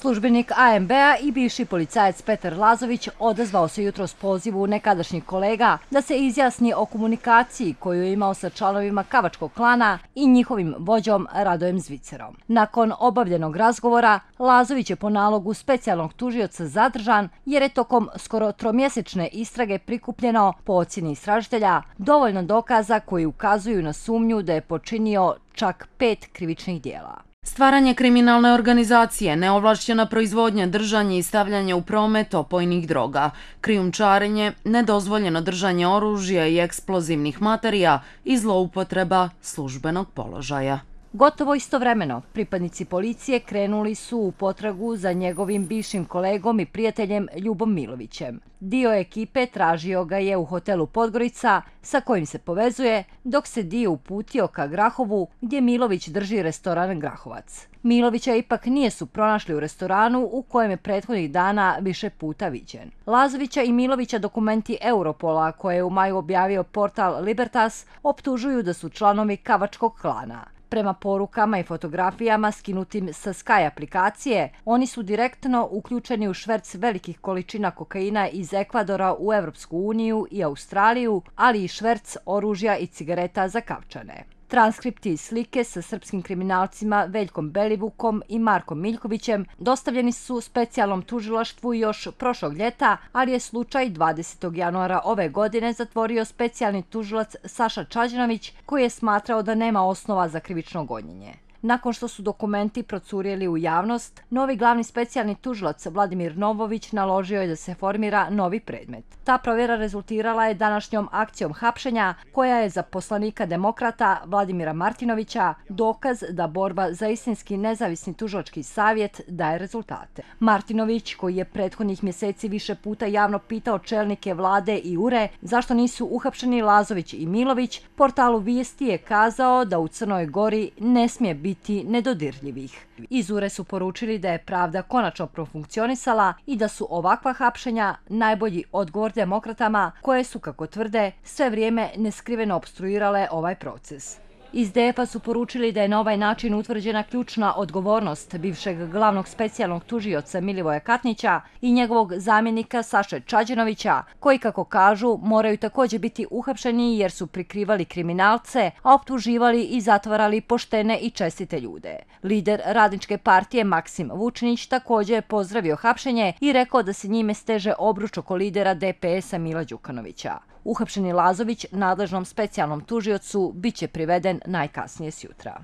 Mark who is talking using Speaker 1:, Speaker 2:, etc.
Speaker 1: Službenik AMB-a i bivši policajac Petar Lazović odazvao se jutros pozivu nekadašnjih kolega da se izjasni o komunikaciji koju je imao sa članovima Kavačkog klana i njihovim vođom Radojem Zvicerom. Nakon obavljenog razgovora, Lazović je po nalogu specijalnog tužioca zadržan jer je tokom skoro tromjesečne istrage prikupljeno, po ocjeni istražitelja, dovoljno dokaza koji ukazuju na sumnju da je počinio čak 5 krivičnih dijela.
Speaker 2: Stvaranje kriminalne organizacije, neovlašćena proizvodnja, držanje i stavljanje u promet opojnih droga, krijumčarenje, nedozvoljeno držanje oružja i eksplozivnih materija i zloupotreba službenog položaja.
Speaker 1: Gotovo istovremeno, pripadnici policije krenuli su u potragu za njegovim bivšim kolegom i prijateljem Ljubom Milovićem. Dio ekipe tražio ga je u hotelu Podgorica, sa kojim se povezuje, dok se dio uputio ka Grahovu, gdje Milović drži restoran Grahovac. Milovića ipak nisu pronašli u restoranu u kojem je prethodnih dana više puta viđen. Lazovića i Milovića dokumenti Europola, koje je u maju objavio portal Libertas, optužuju da su članovi Kavačkog klana. Prema porukama i fotografijama skinutim sa Sky aplikacije, oni su direktno uključeni u šverc velikih količina kokaina iz Ekvadora u Evropsku uniju i Australiju, ali i šverc oružja i cigareta za Kavčane. Transkripti i slike sa srpskim kriminalcima Veljkom Belivukom i Markom Miljkovićem dostavljeni su specijalnom tužilaštvu još prošlog ljeta, ali je slučaj 20. januara ove godine zatvorio specijalni tužilac Saša Čađanović, koji je smatrao da nema osnova za krivično gonjenje. Nakon što su dokumenti procurjeli u javnost, novi glavni specijalni tužilac Vladimir Novović naložio je da se formira novi predmet. Ta provjera rezultirala je današnjom akcijom hapšenja, koja je za poslanika demokrata Vladimira Martinovića dokaz da borba za istinski nezavisni tužilački savjet daje rezultate. Martinović, koji je prethodnih mjeseci više puta javno pitao čelnike vlade i URE zašto nisu uhapšeni Lazović i Milović, portalu Vijesti je kazao da u Crnoj Gori ne smije biti nedodirljivih. Iz URE su poručili da je pravda konačno profunkcionisala i da su ovakva hapšenja najbolji odgovor demokratama koje su, kako tvrde, sve vrijeme neskriveno opstruirale ovaj proces. Iz DF-a su poručili da je na ovaj način utvrđena ključna odgovornost bivšeg glavnog specijalnog tužioca Milivoja Katnića i njegovog zamjenika Saše Čađanovića, koji, kako kažu, moraju također biti uhapšeni jer su prikrivali kriminalce, a optuživali i zatvarali poštene i čestite ljude. Lider Radničke partije Maksim Vučinić također je pozdravio hapšenje i rekao da se njime steže obruč oko lidera DPS-a Mila Đukanovića. Uhapšeni Lazović nadležnom specijalnom tužiocu biće priveden najkasnije sjutra.